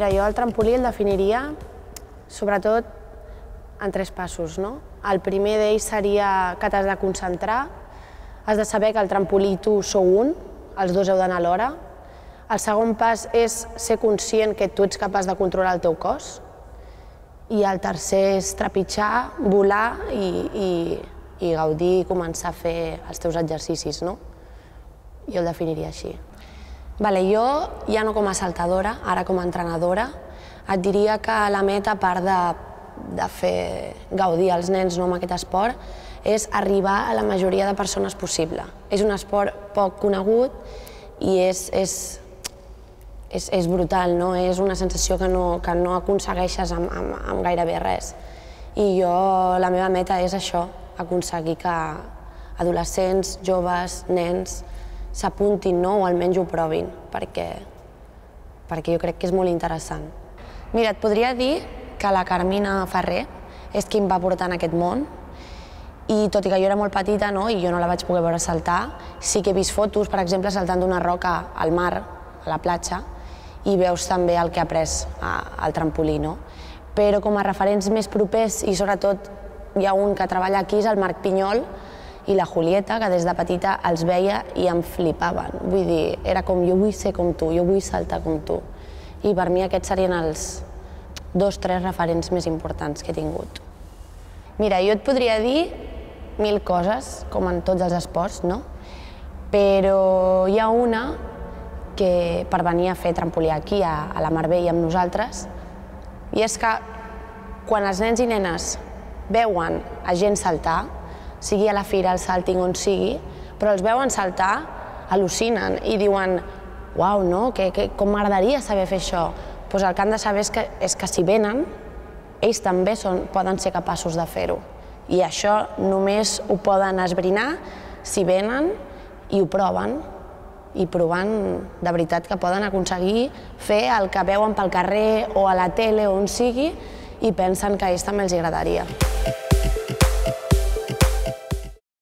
Mira, jo el trampolí el definiria sobretot en 3 passos, no? El primer d'ells seria que t'has de concentrar, has de saber que el trampolí i tu sou un, els dos heu d'anar alhora. El segon pas és ser conscient que tu ets capaç de controlar el teu cos. I el tercer és trepitjar, volar i gaudir i començar a fer els teus exercicis, no? Jo el definiria així. Jo, ja no com a saltadora, ara com a entrenadora, et diria que la meta, a part de fer gaudir els nens amb aquest esport, és arribar a la majoria de persones possible. És un esport poc conegut i és brutal, no? És una sensació que no aconsegueixes amb gairebé res. I jo, la meva meta és això, aconseguir que adolescents, joves, nens s'apuntin, o almenys ho provin, perquè jo crec que és molt interessant. Mira, et podria dir que la Carmina Ferrer és qui em va portar en aquest món, i tot i que jo era molt petita i jo no la vaig poder veure saltar, sí que he vist fotos, per exemple, saltant d'una roca al mar, a la platja, i veus també el que ha après al trampolí. Però com a referents més propers, i sobretot hi ha un que treballa aquí, és el Marc Pinyol i la Julieta, que des de petita els veia i em flipaven. Vull dir, era com jo vull ser com tu, jo vull saltar com tu. I per mi aquests serien els 2 o 3 referents més importants que he tingut. Mira, jo et podria dir 1000 coses, com en tots els esports, però hi ha una que per venir a fer trampolí aquí, a la Marbella amb nosaltres, i és que quan els nens i nenes veuen a gent saltar, sigui a la fira, al Salting, on sigui, però els veuen saltar, al·lucinen i diuen «Uau, com m'agradaria saber fer això!» Doncs el que han de saber és que si venen, ells també poden ser capaços de fer-ho. I això només ho poden esbrinar si venen i ho proven. I provant, de veritat, que poden aconseguir fer el que veuen pel carrer o a la tele o on sigui i pensen que a ells també els agradaria.